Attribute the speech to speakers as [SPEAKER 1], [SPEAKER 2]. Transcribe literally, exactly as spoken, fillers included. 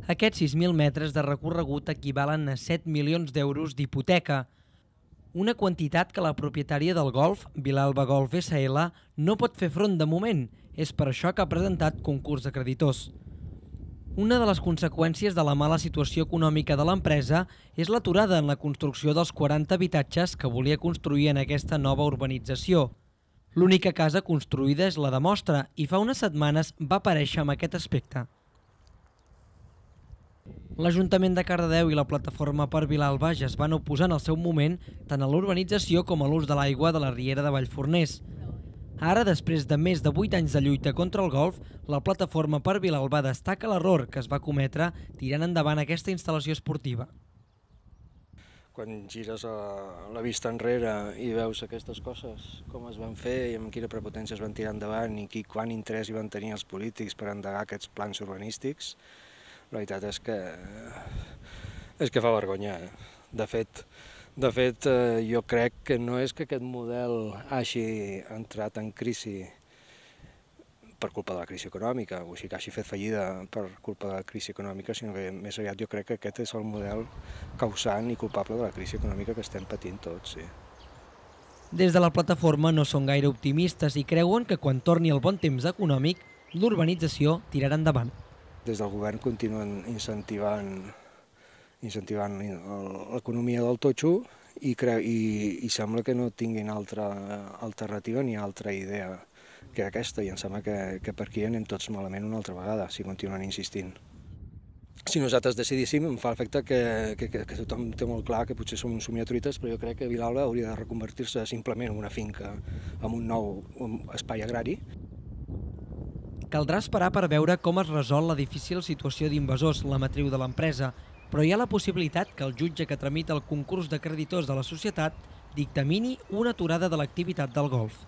[SPEAKER 1] Aquests sis mil metres de recorregut equivalen a set milions d'euros d'hipoteca, una quantitat que la propietària del golf, Vilalba Golf essa ele, no pot fer front de moment. És per això que ha presentat concurs de creditors. Una de les conseqüències de la mala situació econòmica de l'empresa és l'aturada en la construcció dels quaranta habitatges que volia construir en aquesta nova urbanització. L'única casa construïda és la de Mostra i fa unes setmanes va aparèixer amb aquest aspecte. L'Ajuntament de Cardedeu i la Plataforma per Vilalba ja es van oposar en el seu moment tant a l'urbanització com a l'ús de l'aigua de la riera de Vallforners. Ara, després de més de vuit anys de lluita contra el golf, la Plataforma per Vilalba destaca l'error que es va cometre tirant endavant aquesta instal·lació esportiva.
[SPEAKER 2] Quan gires la vista enrere i veus aquestes coses, com es van fer i amb quina prepotència es van tirar endavant i quant interès hi van tenir els polítics per endegar aquests plans urbanístics, la veritat és que, és que fa vergonya. De fet, de fet, jo crec que no és que aquest model hagi entrat en crisi per culpa de la crisi econòmica, o sigui que hagi fet fallida per culpa de la crisi econòmica, sinó que més aviat jo crec que aquest és el model causant i culpable de la crisi econòmica que estem patint tots. Sí.
[SPEAKER 1] Des de la plataforma no són gaire optimistes i creuen que quan torni el bon temps econòmic, l'urbanització tirarà endavant.
[SPEAKER 2] Des del govern continuen incentivant, incentivant l'economia del totxo i, i, i sembla que no tinguin altra alternativa ni altra idea que aquesta, i em sembla que, que per aquí anem tots malament una altra vegada, si continuen insistint. Si nosaltres decidíssim, em fa l'efecte que, que, que, que tothom té molt clar que potser som uns somiatruites, però jo crec que Vilalba hauria de reconvertir-se simplement en una finca amb un nou espai agrari.
[SPEAKER 1] Caldrà esperar per veure com es resol la difícil situació d'invasors, la matriu de l'empresa, però hi ha la possibilitat que el jutge que tramita el concurs de creditors de la societat dictamini una aturada de l'activitat del golf.